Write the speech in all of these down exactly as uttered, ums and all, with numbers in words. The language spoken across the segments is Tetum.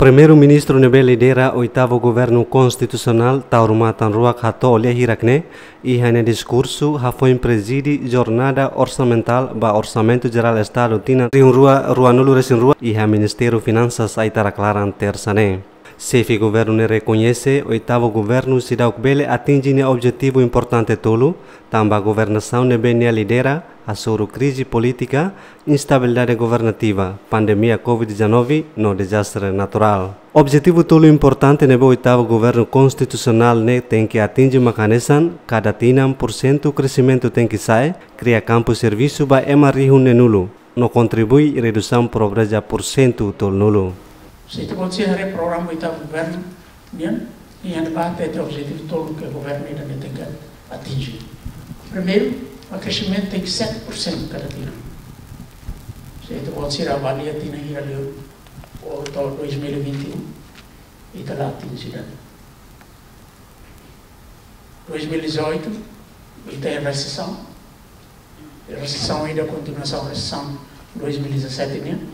Primeiru-Ministru ne'ebé lidera oitavu governu konstitusionál Taur Matan Ruak hato'o lia hirak ne'e iha nia diskursu hafoin prezide jornada orsamentál ba Orsamentu Jerál Estadu tinan rihun rua ruanulu resin rua iha Ministériu Finansas Aitarak Laran, Tersa ne'e. Xefe governu ne'e rekoñese oitavu governu seidauk bele atinje nia objetivu importante tolu, tanba governasaun ne'ebé nia lidera hasoru krize polítika, instabilidade governativa, pandemia covid dezanove no dezastre naturál. Objetivu tolu importante ne'ebé oitavu governu konstitusionál ne'e tenke atinje mak hanesan kada tinan porsentu kresimentu tenke sa'e, kria kampu servisu ba ema rihun neenulu, no kontribui redusaun pobreza porsentu tolunulu. Se ita-boot sira haree programa oitavu governu nian, nia hatete objetivu tolu ke governu ida-ne'e tenke atinje. Primeiru, mak kresimentu tenke sete porsentu kada tinan. Se ita-boot sira avalia tinan hira liu, ou to'o dois mil e vinte e um, ita la atinje ida. Dois mil e dezoito, ita iha resesaun. Resesaun ida kontinuasaun resesaun dois mil e dezassete nian.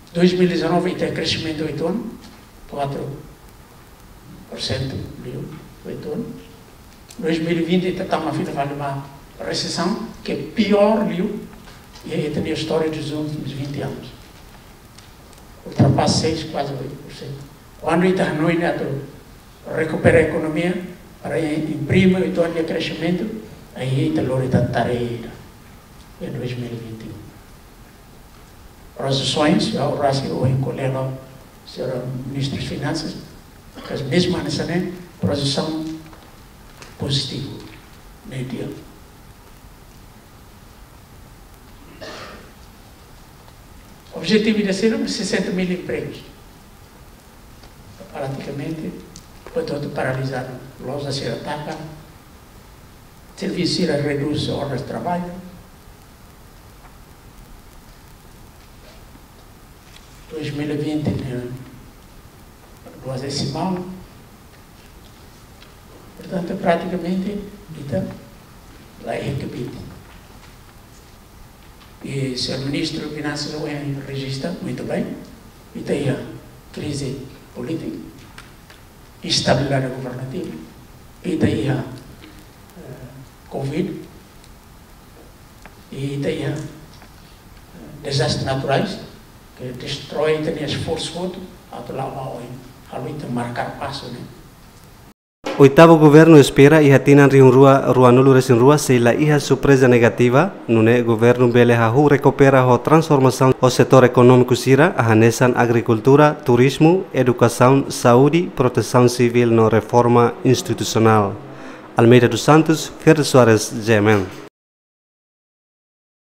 Dois mil e dezanove ita iha kresimentu oito ano, quatro por cento liu, oito ano. Dois mil e vinte ita tama fila fali ba resesaun ke piór liu iha ita-nia istória dos últimos vinte anos. Ultrapasa seis, quase oito por cento. Kuandu ita hanoin atu rekupera ekonomia para imprime oito ano de kresimentu, aí ita lori tan tarea ida. Iha dois mil e vinte e um. Projesoens, ha'u rasik ohin ko'alia ho señora Ministru Finansas, mas mezmu hanesan ne'e, projesaun pozitivu, média. Objetivu ida sira sessenta mil empregos. Pratikamente, hotu-hotu paralizadu. Loja sira taka, servisu sira redús oras traballu. Dois mil e vinte ne'e, duas desimal. Portantu, pratikamente, ita la iha kbiit. E señór Ministru Finansas ohin rejista muito bem, ita iha krize polítika, instabilidade governativa, ita iha, eh, covid, ita iha, eh, dezastre naturais, ke destroi ita-nia esforsu hotu, atu la'o ba oin, halo ita markar pasu ne'e. Oitavu governu espera iha tinan rihun rua ruanulu resin rua sei la iha surpreza negativa, nune'e governu bele hahú rekupera ho transformasaun ho setór ekonómiku sira, hanesan agrikultura, turizmu, edukasaun, saúde, protesaun sivíl no reforma institusionál. Almeida dos Santos, Ferre Soares, G M N.